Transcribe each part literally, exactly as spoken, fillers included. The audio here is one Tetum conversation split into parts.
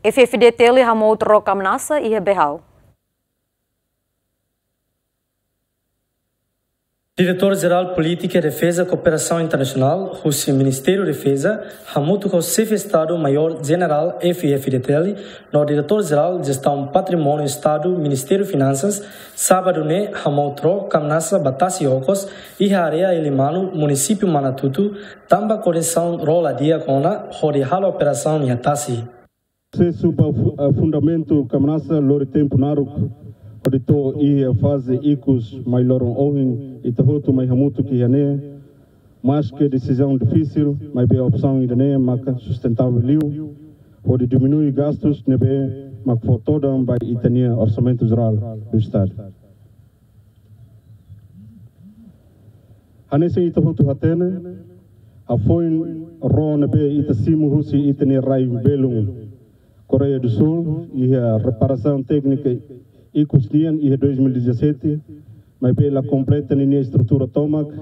F F D T L hamutuk ho Kamnasa iha Behau. Diretór Jerál Polítika Defeza Kooperasaun Internasionál husi Ministériu Defeza, hamutuk ho Xefe Estadu Maiór Jenerál F F D T L no Diretór Jerál Jestaun Patrimóniu Estadu Ministériu Finansas, sábadu ne'e hamutuk ho Kamnasa ba tasi okos iha área Elimanu, Munisípiu Manatutu, tanba kondisaun ró la di'ak ona hodi halo operasaun iha tasi. Prosesu ba fu-, ah, fundamentu Kamnasa lori tempu naruk, hodi to'o iha faze ikus, mai loron ohin ita hotu mai hamutuk iha ne'e, maske desizaun difisil, maibé opsaun ida-ne'e maka sustentável liu, hodi diminui gastus ne'ebé mak fó todan ba ita-nia Orsamentu Jerál do Estadu. Hanesan ita hotu hatene, hafoin ró ne'ebé ita simu husi ita-nia rai belun Koreia do Sul, iha reparasaun téknika ikus nian iha dois mil e dezassete, maibé la kompleta ninia estrutura tomak,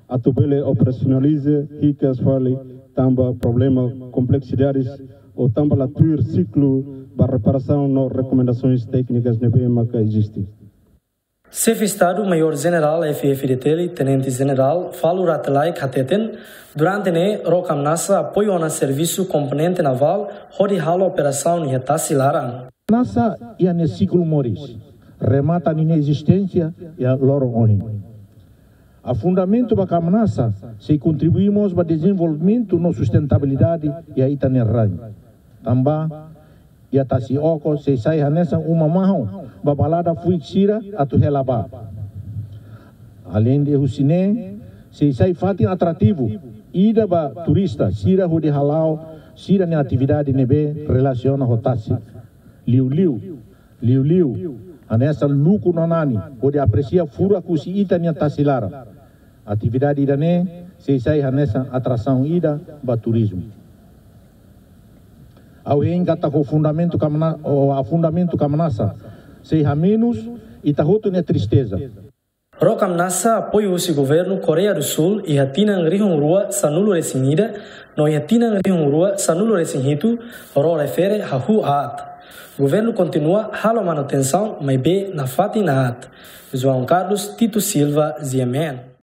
atu bele operasionaliza hikas fali tanba problema kompleksidades ou tanba la tuir siklu ba reparasaun no rekomendasoens téknikas ne'ebé maka eziste. Xefe Estadu Maiór Jenerál F F D T L, Tenente Jenerál Falur Rate Laek hateten, durante ne'e ró Kamnasa apoiu ona servisu komponente navál hodi halo operasaun iha tasi laran. Kamnasa iha nia siklu moris, remata ninia ezisténsia iha loron ohin. Afundamentu ba Kamnasa sei kontribui mós ba dezenvolvimentu no sustentabilidade iha ita-nia rai. Tanba iha tasi okos sei sai hanesan uma mahon ba balada fuik sira atu hela bá. Aleinde husi ne'e, sei sai fatin atrativu ida ba turista sira hodi hala'o sira-nia atividade ne'ebé relasiona ho tasi. Liuliu, liuliu, hanesan luku no nani hodi apresia furak husi ita-nia tasi laran. Atividade ida-ne'e sei sai hanesan atrasaun ida ba turizmu. Ha'u hein katak ho fundamentu Kamna-, ho afundamentu Kamnasa, sei hamenus ita hotu nia tristeza. Ró Kamnasa apoiu husi Governu Koreia do Sul iha tinan rihun rua sanulu resin ida, no iha tinan rihun rua sanulu resin hitu, ró refere hahú aat. Governu kontinua halo manutensaun, maibé nafatin aat. João Carlos Tito Silva, G M N.